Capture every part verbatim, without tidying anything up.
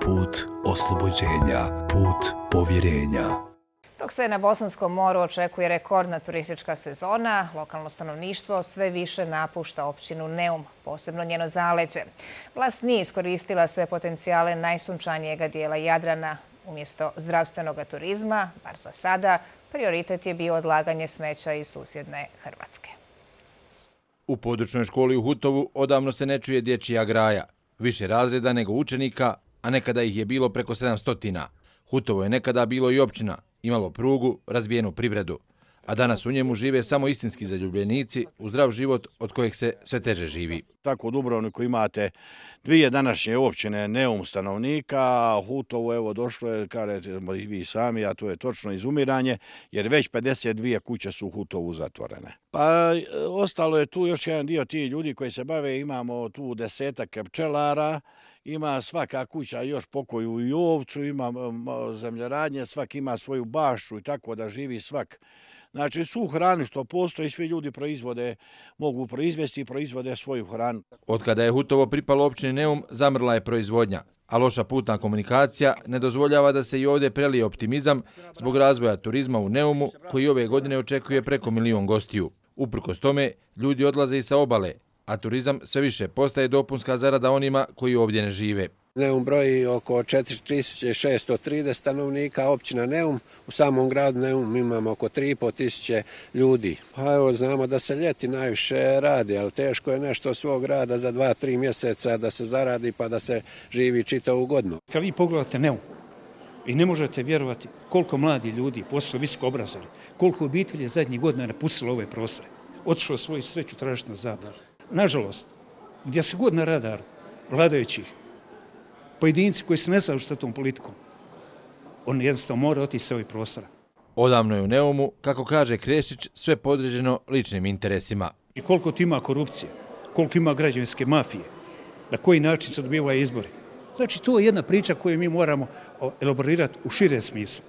put oslobođenja, put povjerenja. Dok se na Bosanskom moru očekuje rekordna turistička sezona, lokalno stanovništvo sve više napušta općinu Neum, posebno njeno zaleđe. Vlast nije iskoristila sve potencijale najsunčanijega dijela Jadrana. Umjesto zdravstvenog turizma, bar za sada, prioritet je bio odlaganje smeća iz susjedne Hrvatske. U područnoj školi u Hutovu odavno se ne čuje dječja graja. Više razreda nego učenika, a nekada ih je bilo preko sedamsto. Hutovo je nekada bilo i općina, imalo prugu, razvijenu privredu, a danas u njemu žive samo istinski zaljubljenici u zdrav život od kojeg se sve teže živi. Tako u Dubrovniku imate dvije današnje općine Neum stanovnika, a Hutovo evo došlo je, kažete i vi sami, a to je točno izumiranje, jer već pedeset dvije kuće su u Hutovu zatvorene. Pa ostalo je tu još jedan dio tih ljudi koji se bave, imamo tu desetak pčelara, ima svaka kuća još pokoju i ovcu, ima zemljoradnje, svak ima svoju bašću i tako da živi svak. Znači, svu hranu što postoji, svi ljudi proizvode, mogu proizvesti i proizvode svoju hranu. Od kada je Hutovo pripalo općini Neum, zamrla je proizvodnja, a loša putna komunikacija ne dozvoljava da se i ovdje prelije optimizam zbog razvoja turizma u Neumu, koji ove godine očekuje preko milion gostiju. Uprkos tome, ljudi odlaze i sa obale, a turizam sve više postaje dopunska zarada onima koji ovdje ne žive. Neum broji oko četiri tisuće šesto trideset stanovnika, općina Neum. U samom gradu Neum imamo oko tri i pol tisuće ljudi. Pa evo, znamo da se ljeti najviše radi, ali teško je nešto svog rada za dva, tri mjeseca da se zaradi pa da se živi čitavu godinu. Kad vi pogledate Neum i ne možete vjerovati koliko mladi ljudi, posle visoko obrazovani, koliko obitelji je zadnjih godina napustilo ove prostore, otišlo svoju sreću tražiti na zapad. Nažalost, gdje se god na radaru vladajućih, pojedinci koji se ne slažu sa tom politikom, on jednostavno mora otići sa ovih prostora. Odavno je u Neumu, kako kaže Krešić, sve podređeno ličnim interesima. I koliko tu ima korupcije, koliko ima građevinske mafije, na koji način se dobivaju izbori. Znači, to je jedna priča koju mi moramo elaborirati u širem smislu.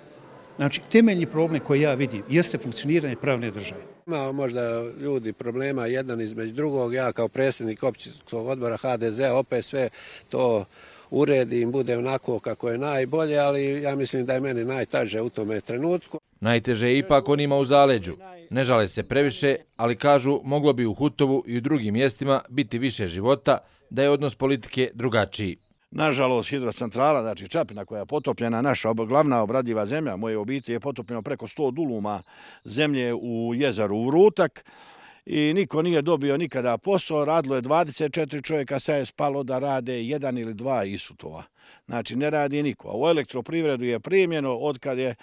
Znači, temeljni problem koji ja vidim jeste funkcioniranje pravne države. Ima možda ljudi problema jedan između drugog, ja kao predsjednik općinskog odbora ha de zea opet sve to uredim, bude onako kako je najbolje, ali ja mislim da je meni najteže u tome trenutku. Najteže je ipak onima u zaleđu. Ne žale se previše, ali kažu moglo bi u Hutovu i u drugim mjestima biti više života, da je odnos politike drugačiji. Nažalost, hidrocentrala, znači Čapina koja je potopljena, naša glavna obradiva zemlja, moje obitelji je potopljeno preko sto duluma zemlje u jezeru Vrutak i niko nije dobio nikada posao, radilo je dvadeset četiri čovjeka, sad je spalo da rade jedan ili dva Isutova. Znači, ne radi niko. A u elektroprivredu je primljeno, od kad je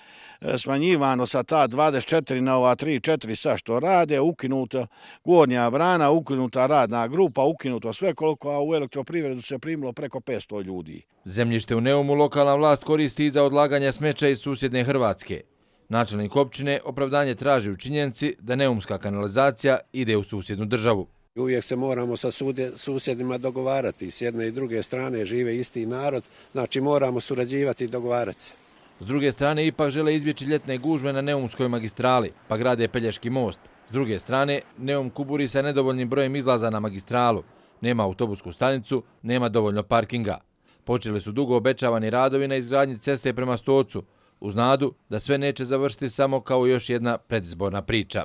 smanjivano sa ta dvadeset četiri na ova tri četiri sa što rade, ukinuta gornja brana, ukinuta radna grupa, ukinuto sve koliko, a u elektroprivredu se primilo preko petsto ljudi. Zemljište u Neumu lokalna vlast koristi za odlaganje smeća iz susjedne Hrvatske. Načelnik općine opravdanje traži u činjenici da neumska kanalizacija ide u susjednu državu. Uvijek se moramo sa susjedima dogovarati. S jedne i druge strane žive isti narod, znači moramo surađivati i dogovarati se. S druge strane ipak žele izbjeći ljetne gužve na Neumskoj magistrali, pa grade Pelješki most. S druge strane, Neum kuburi sa nedovoljnim brojem izlaza na magistralu. Nema autobusku stanicu, nema dovoljno parkinga. Počeli su dugo obećavani radovi na izgradnji ceste prema Stocu, uz nadu da sve neće završiti samo kao još jedna predizborna priča.